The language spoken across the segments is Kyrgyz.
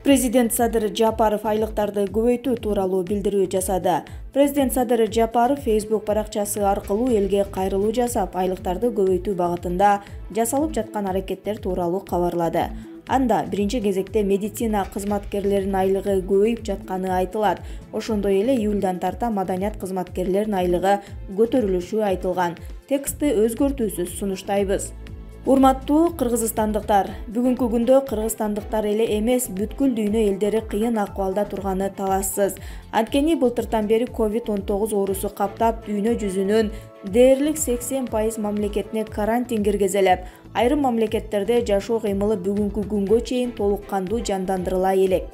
Президент Садыр Жапаров айлыктарды көбөйтүү тууралуу билдирүү жасады. Президент Садыр Жапаров Facebook баракчасы аркылуу элге кайрылуу жасап, айлыктарды көбөйтүү багытында жасалып жаткан аракеттер тууралуу кабарлады. Анда биринчи кезекте медицина кызматкерлеринин айлыгы көбөйүп жатканы айтылат. Ошондой эле июлдан тарта маданият кызматкерлеринин айлыгы көтөрүлүшү айтылган. Текстти өзгөртүүсүз сунуштайбыз. Урматтуу кыргызстандыктар, бүгүнкү күндө кыргызстандыктар эле эмес, бүткүл дүйнө элдери кыйын акыбалда турганы талашсыз. Анткени былтыртан бери COVID-19 оорусу каптап, дүйнө жүзүнүн дээрлик 80% мамлекетине карантин киргизилип, айрым мамлекеттерде жашоо кыймылы бүгүнкү күнгө чейин толук кандуу жандандырыла элек.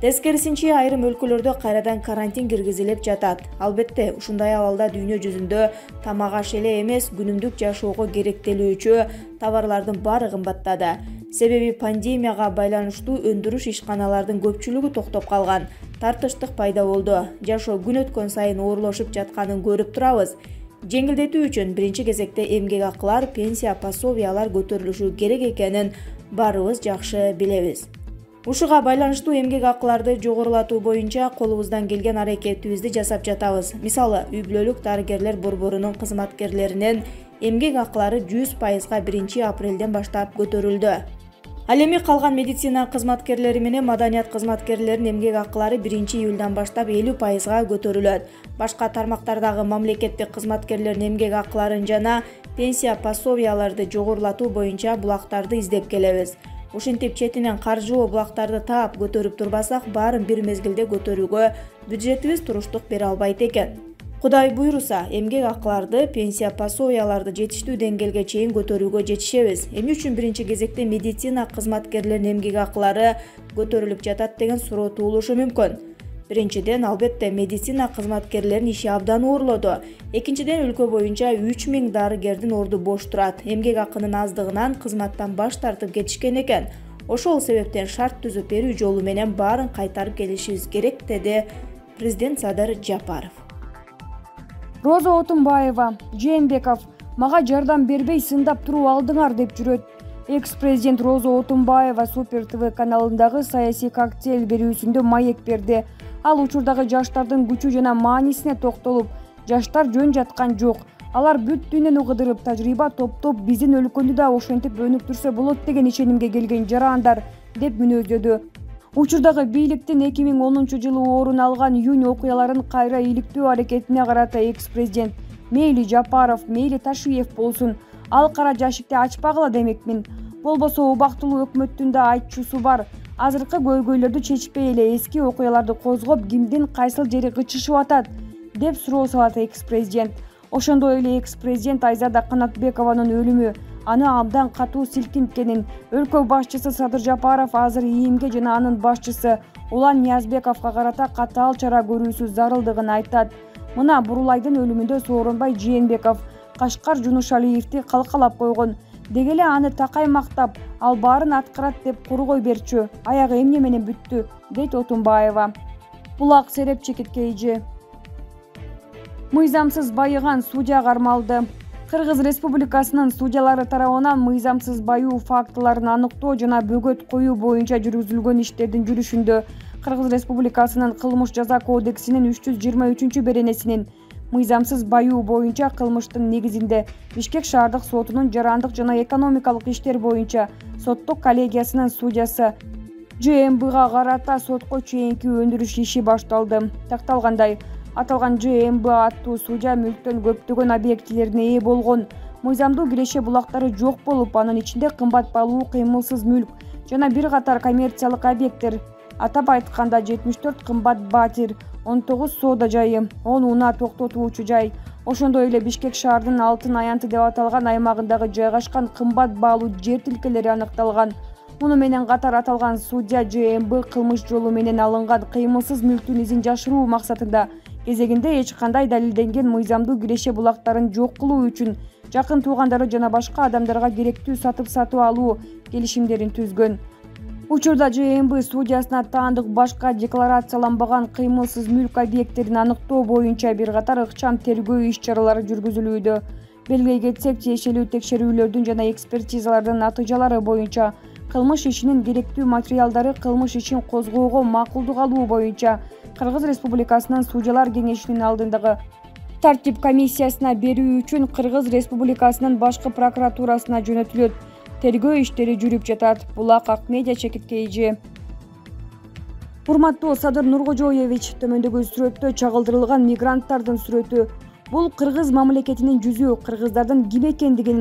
Тескерисинче, айрым өлкөлөрдө кайрадан карантин киргизилип жатат. Албетте, ушундай абалда дүйнө жүзүндө тамак аш эле эмес, күнүмдүк жашоого керектелүүчү товарлардын баары кымбаттады. Себеби пандемияга байланыштуу өндүрүш ишканалардын көпчүлүгү токтоп калган. Тартыштык пайда болду. Жашоо күн өткөн сайын оорлошуп жатканын көрүп турабыз. Жеңилдетүү үчүн биринчи кезекте эмгек акылар, пенсия, пособиялар көтөрүлүшү керек экенин баарыбыз жакшы билебиз. Ушуга байланыштуу эмгек акыларды жогорулатуу боюнча колубуздан келген аракетибизди жасап жатабыз. Мисалы, үй-бүлөлүк дарыгерлер борборунун кызматкерлеринин эмгек акылары 100%га 1-апрелден баштап көтөрүлдү. Ал эми калган медицина кызматкерлери менен маданият кызматкерлеринин эмгек акылары 1-июлдан баштап 50%га көтөрүлөт. Башка тармактардагы мамлекеттик кызматкерлердин эмгек акыларын жана пенсия пособияларды жогорулатуу боюнча булактарды издеп келебиз. Ушинтип четинен каржылоо булактарды таап көтөрүп турбасак, баарын бир мезгилде көтөрүүгө бюджетибиз туруштук бере албайт экен. Кудай буйруса, эмгек акыларды, пенсия пособияларды жетиштүү деңгээлге чейин көтөрүүгө жетишебиз. Эмне үчүн биринчи кезекте медицина кызматкерлеринин эмгек акылары көтөрүлүп жатат деген суроо туулушу мүмкүн. Биринчиден, албетте, медицина кызматкерлеринин иши абдан оорлоду. Экинчиден, өлкө боюнча 3000 дарыгердин орду бош турат. Эмгек акынын аздыгынан кызматтан баш тартып кетишкен экен. Ошол себептен шарт түзүп берүү жолу менен баарын кайтарып келишибиз керек, деди президент Садыр Жапаров. Роза Отунбаева: Жээнбеков мага жардам бербей сындап туруп алдыңар деп жүрөт. Экс-президент Роза Отунбаева Супер ТВ каналындагы саясий коктейль берүүсүндө маек берди. Ал учурдагы жаштардын күчү жана маанисине токтолуп, жаштар жөн жаткан жок. Алар бүт дүйнөнү кыдырып, тажрыйба топтоп, биздин өлкөнү да ошентип өнүктүрсө болот деген ишенимге келген жарандар, деп мүнөздөдү. Учурдагы бийликтин 2010-жылы орун алган июнь окуяларын кайра иликтөө аракетине карата экс-президент: мейли Жапаров, мейли Ташиев болсун, ал кара жашикти ачпагыла демекмин. Болбосо убактылуу өкмөттүн да айтчусу бар. Азыркы көйгөйлөрдү чечпей эле эски окуяларды козгоп, кимдин кайсыл жери кычышып атат, деп суроо салат экс-президент. Ошондой эле экс-президент Айзада Канатбекованын өлүмү аны абдан катуу силкинткенин, өлкө башчысы Садыр Жапаров азыр ИИМге жана анын башчысы Улан Ниязбековго карата катаал чара көрүүсү зарылдыгын айтат. Мына Бурулайдын өлүмүндө Сооронбай Жээнбеков Кашкар Жунушалиевди калкалап койгон. Деги эле аны такай мактап, ал баарын аткарат деп кургой берчү. Аягы эмне менен бүттү, дейт Отунбаева. Булак сереп чекиткейжи. Мыйзамсыз байыган судья кармалды. Кыргыз Республикасынын судьялары тарабынан мыйзамсыз баюу фактыларын аныктоо жана бөгөт коюу боюнча жүргүзүлгөн иштердин жүрүшүндө Кыргыз Республикасынын Кылмыш жаза кодексинин 323-беренесинин мыйзамсыз баюу боюнча кылмыштын негизинде Бишкек шаардык сотунун жарандык жана экономикалык иштер боюнча соттук коллегиясынын судьясы ЖМБга карата сотко чейинки өндүрүш иши башталды. Такталгандай, аталган ЖМБ аттуу судья мүлктөн көптөгөн объектилерине ээ болгон. Мыйзамдуу киреше булактары жок болуп, анын ичинде кымбат баалуу кыймылсыз мүлк жана бир катар коммерциялык объекттер, атап айтканда 74 кымбат батир, 19 соода жайы, 10 унаа токтотуучу жай, ошондой эле Бишкек шаарынын Алтын аянты деп аталган аймагындагы жайгашкан кымбат баалуу жер тилкелери аныкталган. Муну менен катар аталган судья ЖМБ кылмыш жолу менен алынган кыймылсыз мүлктүн изин жашыруу максатында кезегинде эч кандай далилденген мыйзамдуу киреше булактарын жок кылуу үчүн жакын туугандары жана башка адамдарга керектүү сатып алуу келишимдерин түзгөн. Учурда ЖМБ судьясына таандык башка декларацияланбаган кыймылсыз мүлк объекттерин аныктоо боюнча бир катар ыкчам тергөө иш-чаралары жүргүзүлүүдө. Белгилей кетсек, тиешелүү текшерүүлөрдүн жана экспертизалардын натыйжалары боюнча кылмыш ишинин керектүү материалдары кылмыш ишин козгоого макулдук алуу боюнча Кыргыз Республикасынын Судьялар кеңешинин алдындагы тартип комиссиясына берүү үчүн Кыргыз Республикасынын башкы прокуратурасына жөнөтүлөт. Тергөө иштери жүрүп жатат. Булак Акмедиа Чекиткейжи. Урматтуу Садыр Нуркожоевич, төмөндөгү сүрөттө чагылдырылган мигранттардын сүрөтү. Бул кыргыз мамлекетинин жүзү, кыргыздардын ким экендигин,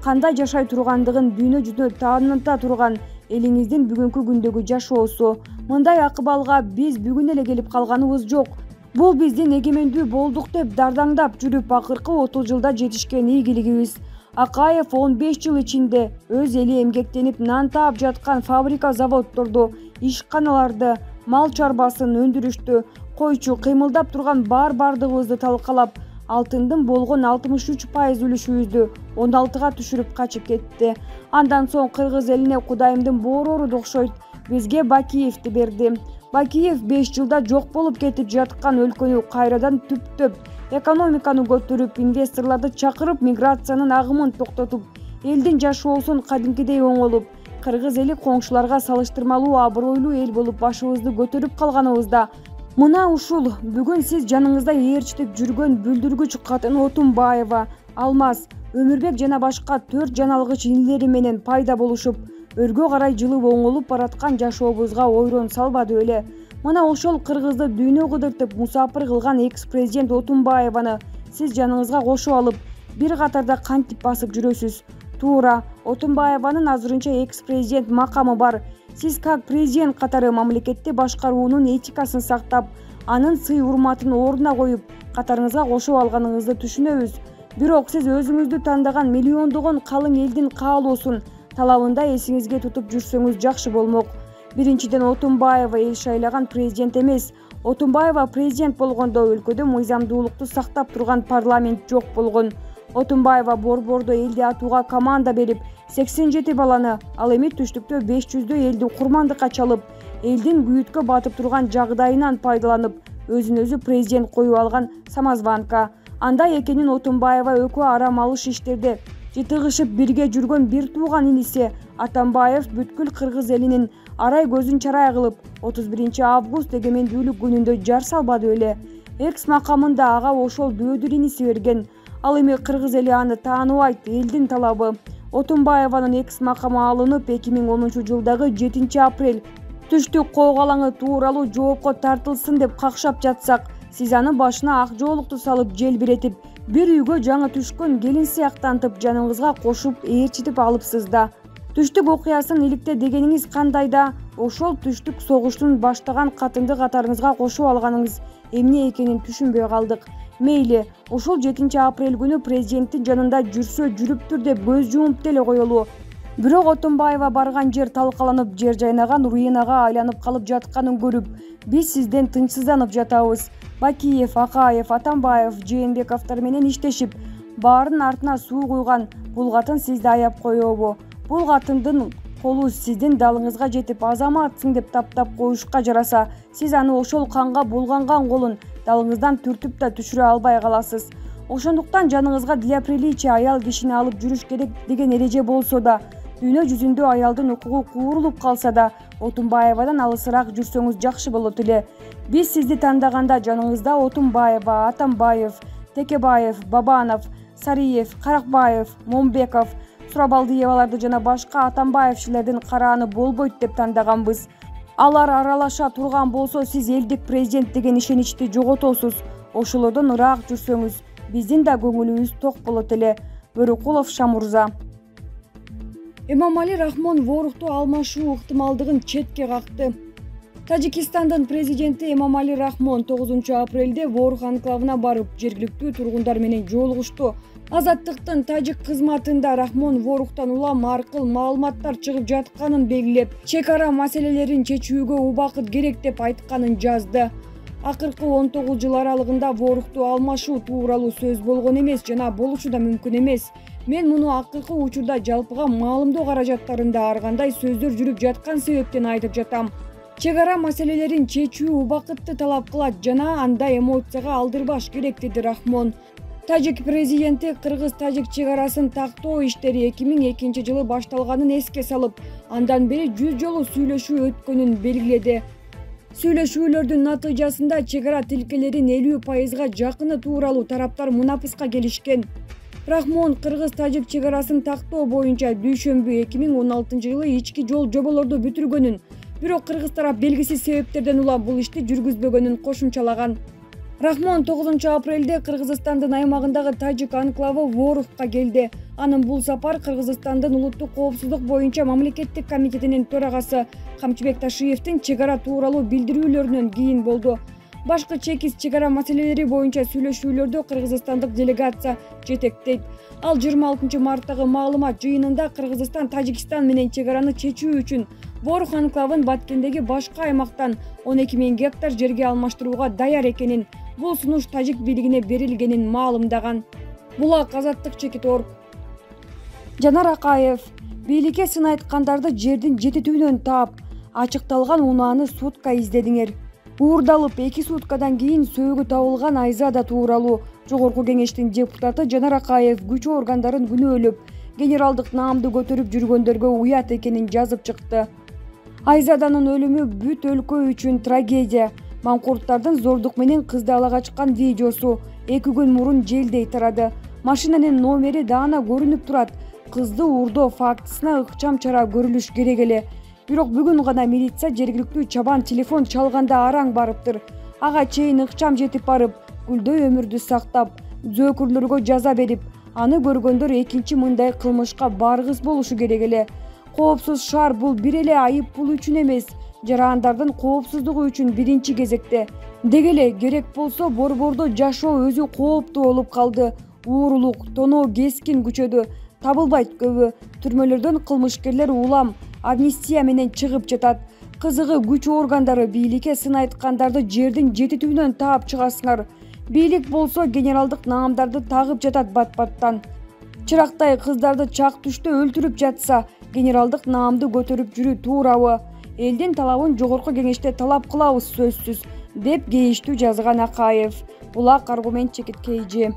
кандай жашай тургандыгын дүйнө жүзүнө тааныта турган элиңиздин бүгүнкү күндөгү жашоосу. Мындай акыбалга биз бүгүн эле келип калганыбыз жок. Бул биздин эгемендүү болдук деп дардаңдап жүрүп акыркы 30 жылда жетишкен ийгилигибиз. Акаев 15 жыл ичинде өз эли эмгектенип нан таап жаткан фабрика заводдорду, ишканаларды, мал чарбасын өндүрүштү, койчу кыймылдап турган бардыгыбызды талкалап, алтындын болгон 63% үлүшүбүздү 16га түшүрүп качып кетти. Андан соң кыргыз элине Кудайымдын боорору да окшойт, бизге Бакиевди берди. Бакиев 5 жылда жок болуп кетип жаткан өлкөнү кайрадан түптөп, экономиканы көтөрүп, инвесторлорду чакырып, миграциянын агымын токтотуп, элдин жашоосун кадимкидей оңолуп, кыргыз эли коңшуларга салыштырмалуу абройлуу эл болуп башыбызды көтөрүп калганыбызда мына ушул бүгүн сиз жаныңызда ээрчитип жүргөн бүлдүргүч катын Отунбаева, Алмаз, Өмүрбек жана башка 4 жаналгыч инилери менен пайда болушуп, өргө карай жылып оңолуп бараткан жашообузга ойрон салбады беле. Мына ошол кыргызды дүйнө кыдыртып мусапыр кылган экс-президент Отунбаеваны сиз жаныңызга кошуп алып, бир катарда кантип басып жүрөсүз? Туура, Отунбаеванын азырынча экс-президент макамы бар. Сиз как президент катары мамлекетти башкаруунун этикасын сактап, анын сый-урматын ордуна коюп, катарыңызга кошуп алганыңызды түшүнөбүз. Бирок сиз өзүңүздү тандаган миллиондогон калың элдин каалоосун, талабында эсиңизге тутуп жүрсөңүз жакшы болмок. Биринчиден, Отунбаева эл шайлаган президент эмес. Отунбаева президент болгондо өлкөдө мыйзамдуулукту сактап турган парламент жок болгон. Отунбаева борбордо элди атууга команда берип, 87 баланы, ал эми түштүктө 500дөй элди курмандыкка чалып, элдин күйүткө батып турган жагдайынан пайдаланып, өзүн өзү президент коюп алган самозванка. Андай экенин Отунбаева экөө арам алыш иштерде жытыгышып бирге жүргөн бир тууган иниси Атамбаев бүткүл кыргыз элинин арай көзүн чарай кылып 31 август эгемендүүлүк күнүндө жар салбады беле. Экс макамында ага ошол дөөдүр иниси берген. Ал эми кыргыз эли аны тааныбайт, элдин талабы. Отунбаеванын экс макамы алынып 2010 жылдагы 7 апрель түштүк коогалаңы тууралуу жоопко тартылсын деп какшап жатсак, сиз анын башына ак жоолукту салып желбиретип, бир үйгө жаңы түшкөн келин сыяктантып, жаныңызга кошуп ээрчитип алыпсыз да. Түштүк окуясын иликте дегениңиз кандай да, ошол түштүк согуштун баштаган катынды катарыңызга кошуп алганыңыз эмне экенин түшүнбөй калдык. Мейли, ошол 7 апрель күнү президенттин жанында жүрсө жүрүптүр деп көз жумуп деле коелу. Бирок Отунбаева барган жер талкаланып, жер жайнаган руинага айланып калып жатканын көрүп, биз сизден тынчсызданып жатабыз. Бакиев, Акаев, Атамбаев, Жээнбековдор менен иштешип, баарынын артына суу куйган бул катын сизди аяп коебу? Бул катындын колу сиздин далыңызга жетип, азаматсың деп таптап коюшка жараса, сиз аны ошол канга булганган колун далыңыздан түртүп да түшүрө албай каласыз. Ошондуктан жаныңызга для приличия аял кишини алып жүрүш керек деген эреже болсо да, дүйнө жүзүндө аялдын укугу куурулуп калса да, Отунбаевадан алысыраак жүрсөңүз жакшы болот эле. Биз сизди тандаганда жаныңызда Отунбаева, Атамбаев, Текебаев, Бабанов, Сариев, Каракбаев, Момбеков, Сурабалдиеваларды жана башка Атамбаевчилердин карааны болбойт деп тандаганбыз. Алар аралаша турган болсо, сиз элдик президент деген ишеничти жоготосуз. Ошолордон ыраак жүрсөңүз, биздин да көңүлүбүз ток болот эле. Бөрөкулов Шамурза. Эмомали Рахмон Воорухту алмашуу ыктымалдыгын четке какты. Тажикстандын президенти Эмомали Рахмон 9 апрелде Воорух анклавына барып, жергиликтүү тургундар менен жолугушту. Азаттыктын тажик кызматында Рахмон Воорухтан улам аркыл маалыматтар чыгып жатканын белгилеп, чек ара маселелерин чечүүгө убакыт керек деп айтканын жазды. Акыркы 19 жыл аралыгында Воорухту алмашуу тууралуу сөз болгон эмес жана болушу да мүмкүн эмес. Мен муну акыркы учурда жалпыга маалымдоо каражаттарында ар кандай сөздөр жүрүп жаткан себептен айтып жатам. Чек ара маселелерин чечүү убакытты талап кылат жана анда эмоцияга алдырбаш керек, деди Рахмон. Тажик президенти кыргыз-тажик чек арасын тактоо иштери 2002-жылы башталганын эске салып, андан бери 100 жолу сүйлөшүү өткөнүн белгиледи. Сүйлөшүүлөрдүн натыйжасында чек ара тилкелерин 50%га жакыны тууралуу тараптар мунапыска келишкен. Рахмон кыргыз-тажик чек арасын тактоо боюнча дүйшөмбү 2016-жылы ички жол жоболорду бүтүргөнүн, бирок кыргыз тарап белгисиз себептерден улам бул ишти жүргүзбөгөнүн кошумчалаган. Рахмон 9-апрелде Кыргызстандын аймагындагы тажик анклавы Воровка келди. Анын бул сапар Кыргызстандын улуттук коопсуздук боюнча мамлекеттик комитетинин төрагасы Камчыбек Ташиевдин чек ара тууралуу билдирүүлөрүнөн кийин болду. Башкы чекиз чек ара маселелери боюнча сүйлөшүүлөрдү кыргызстандык делегация жетектейт. Ал 26 марттагы маалымат жыйынында Кыргызстан Тажикстан менен чек араны чечүү үчүн Борох анклавын Баткендеги башка аймактан 12 000 гектар жерге алмаштырууга даяр экенин, бул сунуш тажик бийлигине берилгенин маалымдаган. Булак Азаттык Чекит.org. Жанар Акаев: бийликке сын айткандарды жердин жетитүүнөн таап, ачыкталган унааны сутка издедиңер. Уурдалып 2 суткадан кийин сөөгү табылган Айзада тууралуу Жогорку кеңештин депутаты Жанар Акаев күч органдарын күнөөлөп, генералдык наамды көтөрүп жүргөндөргө уят экенин жазып чыкты. Айзаданын өлүмү бүт өлкө үчүн трагедия. Маңкурттардын зордук менен кызды ала качкан видеосу 2 күн мурун желдей тарады. Машинанын номери даана көрүнүп турат. Кызды уурдоо фактысына ыкчам чара көрүлүш керек эле. Бирок бүгүн гана милиция жергиликтүү чабан телефон чалганда араң барыптыр. Ага чейин ыкчам жетип барып, гүлдөй өмүрдү сактап, зөөкүрлөргө жаза берип, аны көргөндөр экинчи мындай кылмышка баргыс болушу керек эле. Коопсуз шаар бул бир эле айып пул үчүн эмес, жарандардын коопсуздугу үчүн биринчи кезекте. Деги эле керек болсо борбордо жашоо өзү кооптуу болуп калды. Уурулук, тоноо кескин күчөдү. Табылбайт көбү. Түрмөлөрдөн кылмышкерлер улам амнистия менен чыгып жатат. Кызыгы күч органдары бийликке сын айткандарды жердин жетитүүнөн таап чыгасыңар. Бийлик болсо генералдык наамдарды тагып жатат бат-баттан. Чырактай кыздарды чак түштө өлтүрүп жатса, генералдык наамды көтөрүп жүрүү туурабы? Элдин талабын жогорку кеңеште талап кылабыз сөзсүз, деп кейиштүү жазган Акаев. Булак Аргумент Чекит KG.